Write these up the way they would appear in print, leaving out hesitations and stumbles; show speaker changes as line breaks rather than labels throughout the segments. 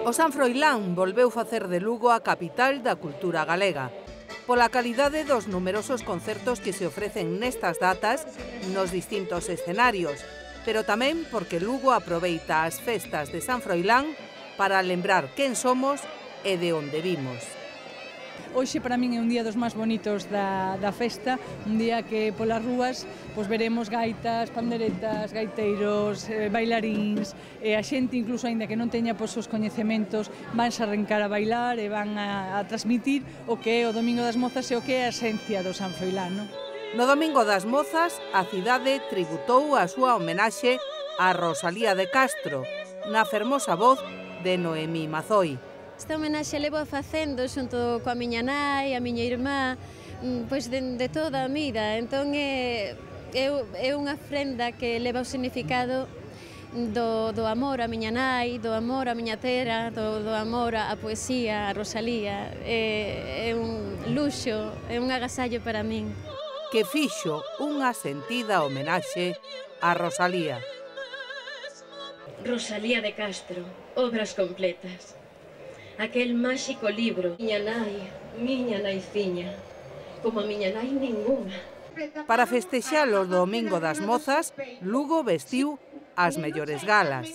O San Froilán volveu facer de Lugo a capital da cultura galega. Pola calidade dos numerosos concertos que se ofrecen nestas datas nos distintos escenarios, pero tamén porque Lugo aproveita as festas de San Froilán para lembrar quen somos e de onde vimos.
Hoxe para min é un día dos máis bonitos da festa, un día que polas rúas veremos gaitas, panderetas, gaiteiros, bailaríns, e a xente incluso aínda que non teña os coñecementos vanse a arrancar a bailar e van a transmitir o que é o Domingo das Mozas e o que é a esencia do San Froilán, non?
No Domingo das Mozas, a cidade tributou a súa homenaxe a Rosalía de Castro, na fermosa voz de Noemí Mazoi.
Esta homenaxe levo a facendo xunto coa miña nai, a miña irmá, pois de toda a vida. Entón é unha ofrenda que leva o significado do amor a miña nai, do amor a miña terra, do amor a poesía, a Rosalía. É un luxo, é un agasallo para min.
Que fixo unha sentida homenaxe a Rosalía.
Rosalía de Castro, obras completas. Aquel máxico libro, miña naiciña, como a miña nai ninguna.
Para festexar o Domingo das Mozas, Lugo vestiu as mellores galas,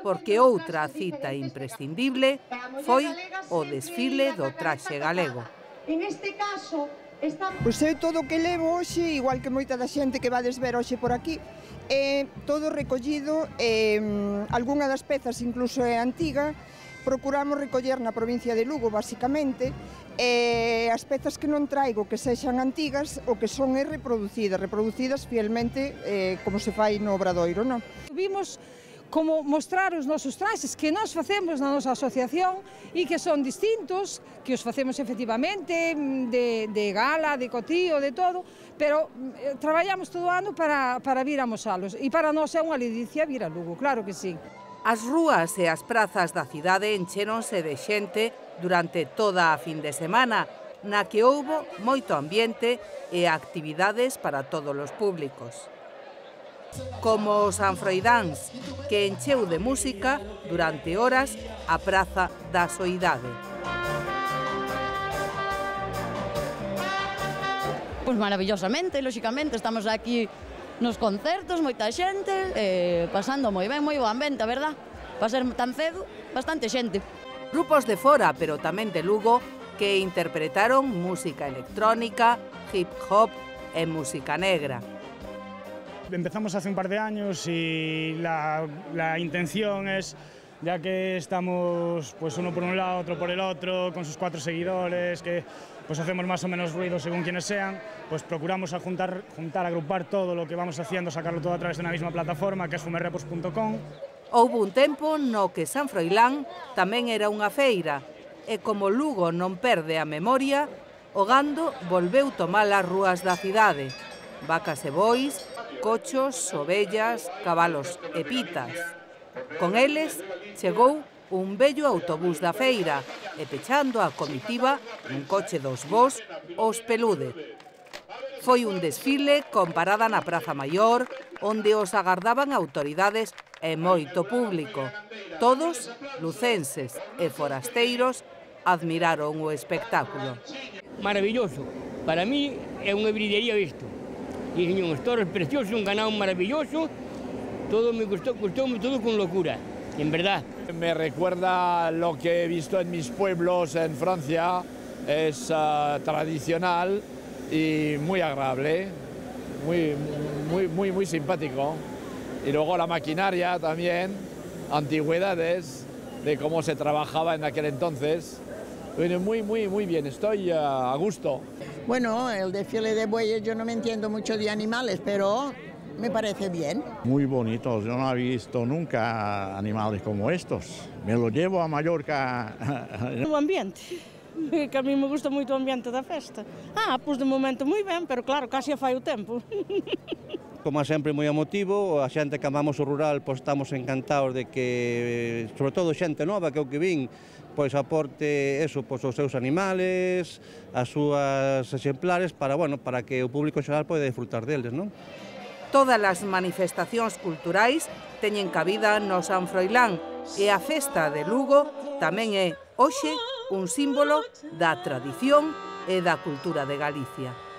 porque outra cita imprescindible foi o desfile do traxe galego.
Pois é todo o que levo hoxe, igual que moita da xente que vades ver hoxe por aquí, é todo recollido, algunha das pezas incluso é antiga. Procuramos recoller na provincia de Lugo, basicamente, as pezas que non traigo que sexan antigas, o que son reproducidas fielmente como se fai no Obradoiro, non?
Vimos como mostrar os nosos traxes que nós facemos na nosa asociación e que son distintos, que os facemos efectivamente de gala, de cotío, de todo, pero traballamos todo o ano para vir a mosalos e para nós é unha ledicia vir a Lugo, claro que sí.
As rúas e as prazas da cidade enchéronse de xente durante toda a fin de semana, na que houbo moito ambiente e actividades para todos os públicos. Como os sanfroidáns, que encheu de música durante horas a Praza da Soidade.
Pois maravillosamente, lóxicamente, estamos aquí nos concertos, moita xente, pasando moi ben, moi bo ambiente, a verdad? Para ser tan cedo, bastante xente.
Grupos de fora, pero tamén de Lugo, que interpretaron música electrónica, hip hop e música negra.
Empezamos hace un par de años y la intención es, ya que estamos pues uno por un lado, otro por el otro, con sus 4 seguidores, que pues hacemos más o menos ruido según quienes sean, pues procuramos juntar, agrupar todo lo que vamos haciendo, sacarlo todo a través de una misma plataforma, que es fumerrepos.com.
Houbo un tempo no que San Froilán tamén era unha feira, e como Lugo non perde a memoria, o gando volveu tomar as rúas da cidade. Vacas e bois, cochos, ovellas, cabalos e pitas. Con eles chegou un bello autobús da feira e pechando a comitiva un coche dos bos os Pelude. Foi un desfile con parada na Praza Maior, onde os agardaban autoridades e moito público. Todos, lucenses e forasteiros, admiraron o espectáculo.
Maravilloso. Para mí é unha bridería isto. E uns toros preciosos, un ganado maravilloso. Todo me gustó todo con locura, en verdad.
Me recuerda lo que he visto en mis pueblos en Francia. Es tradicional y muy agradable, muy simpático. Y luego la maquinaria también, antigüedades de cómo se trabajaba en aquel entonces. Muy bien, estoy a gusto.
Bueno, el desfile de bueyes, yo no me entiendo mucho de animales, pero me parece bien.
Muy bonitos, yo no he visto nunca animales como estos. Me lo llevo a Mallorca.
O ambiente, que a mí me gusta moito o ambiente da festa. Pois de momento moi ben, pero claro, casi fai o tempo.
Como sempre, moi emotivo, a xente que amamos o rural, pois estamos encantados de que, sobre todo xente nova, que é o que vin, pois aporte eso, pois os seus animales, as súas exemplares, para que o público xeral poida disfrutar deles, non?
Todas as manifestacións culturais teñen cabida no San Froilán, E a festa de Lugo tamén é, hoxe, un símbolo da tradición e da cultura de Galicia.